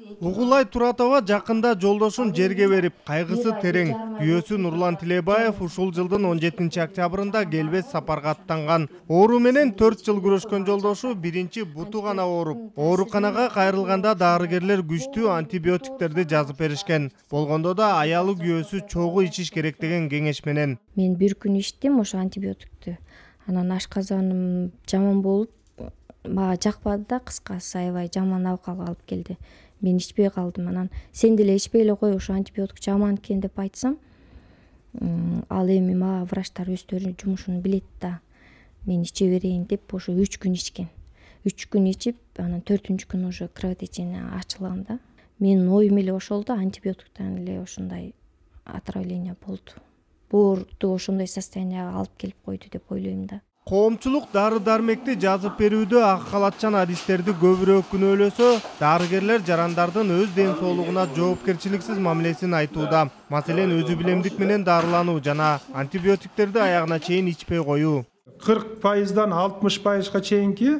Угулай Туратова жакында жолдошун жерге берип, кайгысы терең. Күйөөсү Нурлан Тилебаев ушул жылдын 17 октябрында келбес сапарга аттанган. Оору менен 4 жыл күрөшкөн жолдошу биринчи буту гана ооруп, ооруканага кайрылганда дарыгерлер күчтүү антибиотиктерди жазып беришкен. Болгондо да аялы күйөөсү чогуу ичиш керек деген кеңеш менен. Мен бир күн ичтим ошо антибиотикти. Анан ашказаным жаман болуп, мага жакпады да, кыскасы аябай жаман абкалга алып келди. Мен ичпей калдым. Анан сен деле ичпей эле кой, ошо антибиотик жаман экен деп айтсам, ал эми мага врачтар өздөрүнүн жумушун билет да. Мен иче берейин деп ошо 3 күн ичкен. 3 күн ичип, анан 4-күн күнү уже кровотечение ачылган да. Менин оюм эле ошол да, антибиотиктен эле ошондой отравление болду. Буурду ошондой состоянияга алып келип койду деп ойлойм да. Коомчулук дары-дармекти жазып берүүдө ак халатчан адистерди көбүрөөк күнөөлөсө, дарыгерлер жарандардын өз ден соолугуна жоопкерчиликсиз мамилесин айтууда. Маселен, өзү билемдик менен дарылануу жана антибиотиктерди аягына чейин ичпей коюу. 40%дан 60%га чейинки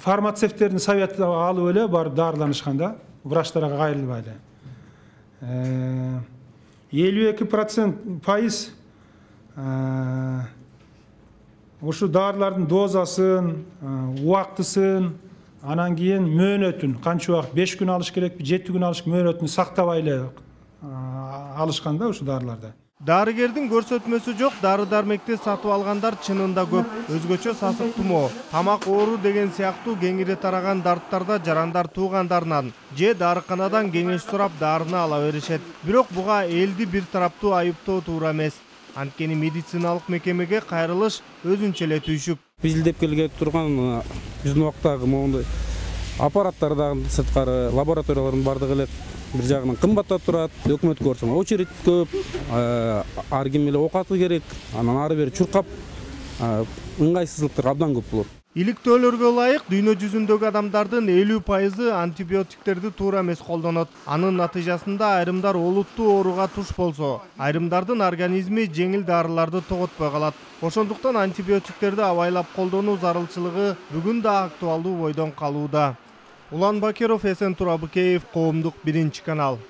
фармацевттердин советин алып эле барып дарыланышкан да, врачтарга кайрылбай эле. 52% ушу дарылардын дозасын, убактысын, анан кийин мөөнөтүн, канча убакыт 5 күн алыш керекпи, 7 күн алыш мөөнөтүн сактабай эле алышкан да ушу дарыларды. Дарыгердин көрсөтмөсү жок дары-дармекти сатып алгандар чынында көп. Өзгөчө сасык тумоо, тамак оору деген сыяктуу кеңири тараган дарттарда жарандар туугандарынан же дарыканадан кеңеш сурап дарыны ала беришет. Бирок буга элди бир тараптуу айыптоо туура эмес. Анткени медициналык мекемеге кайрылыш өзүнчө эле түйшүк. Биз илдеп келген турган биздин убактагы моундай аппараттар дагы сырткары лабораториялардын бардыгы эле бир жагынан кымбаттап турат. Өкмөткө барсаң очередь көп, ар ким эле окаты керек, анан ары бери чуркап ыңгайсыздыктар абдан көп болот. Иликтөөлөргө ылайык дүйнө жүзүндөгү адамдардын 50% антибиотиктерди туура эмес колдонот. Анын натыйжасында айрымдар олуттуу ооруга туш болсо, айрымдардын организми жеңил дарыларды тоготпой калат. Ошондуктан антибиотиктерди абайлап колдонуу зарылчылыгы бүгүн да актуалдуу бойдон калууда. Улан Бакиров, Эсен Турабыкеев, Коомдук 1 канал.